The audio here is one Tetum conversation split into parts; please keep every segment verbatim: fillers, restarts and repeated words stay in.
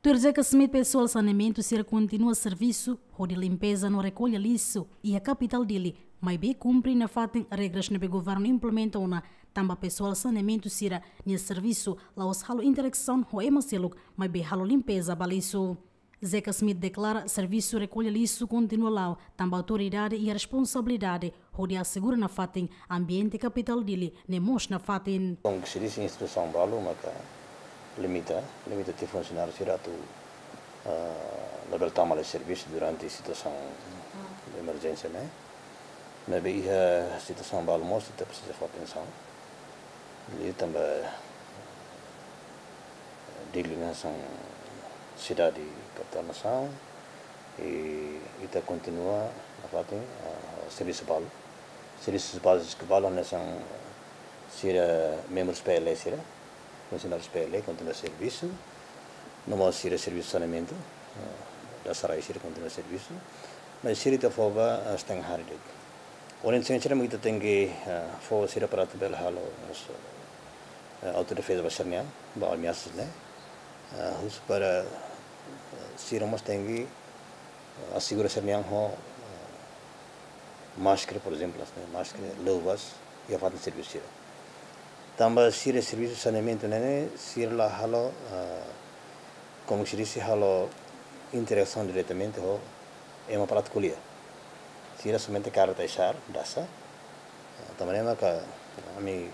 Tuir Zeca Schmidt, pesoál saneamentu sira kontinua servisu hodi limpeza no rekolla lixu iha kapitál Dili, maibé kumpre nafatin regras ne'ebé governu implementa ona, tanba pesoál saneamentu sira-nia servisu la'ós halo interasaun ho ema seluk, maibé halo limpeza ba lixu. Zeca Schmidt deklara servisu rekolla lixu kontinua la'o, tanba autoridade iha responsabilidade hodi asegura nafatin ambiente kapitál Dili ne'e moos nafatin. Komu se disi, instituisaun balu maka limita, limita tiha funsionáriu sira atu, ah, labele tama lai servisu durante situasaun de emerjénsia ne'e. Maibé iha situasaun balu mós ita presiza fó atensaun. Liu tanba Dili hanesan sidade kapitál nasaun, i ita kontinua nafatin, ah, servisu balu. Servisu báziku balu hanesan sira membru P L E sira, funsionáriu P L E kontinua servisu, no mós sira servisu saneamentu, ah, dasa rai sira kontinua servisu, maibé sira ita fó ba, ah, setengah hari de'it. Ohin sira mak ita tenke, ah, fó sira para atu bele halo mós, ah, autodefeza ba sira-nian, ba ameasas ne'e. Ah, husu para, ah, sira mós tenke, ah, asegura sira-nian ho, ah, máskara, por ezemplu, ne'e, máskara, luvas, iha fatin servisu sira. Tanba sira servisu saneamentu ne'e, sira la halo, ah, komu se disi, halo interasaun diretamente ho ema para atu ko'alia. Sira somente kaer tiha, dasa. Ah, tanba ne'e maka ami,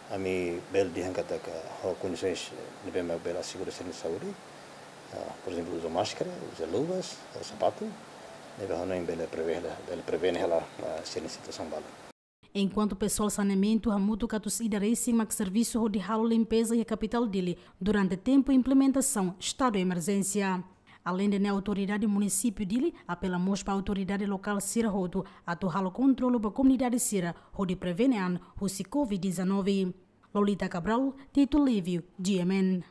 ami bele dehan katak ho kondisoens ne'ebé mak bele asegura sira-nia saúde. Ah, por ezemplu, uza máskara, uza luvas, ah, sapatu, ne'ebé hanoin bele prevene, bele prevene hela, ah, sira-nia situasaun balu. Enkuantu pesoál saneamentu hamutuk atus ida resin mak servisu hodi halo limpeza iha kapitál Dili durante tempu implementasaun estadu emerjénsia. Aleinde ne'e, autoridade munisípiu Dili apela mós ba autoridade lokál sira hotu atu halo kontrolu ba komunidade sira hodi prevene an husi covid dezanove. Lolita Cabral, Tito Livio, G M N.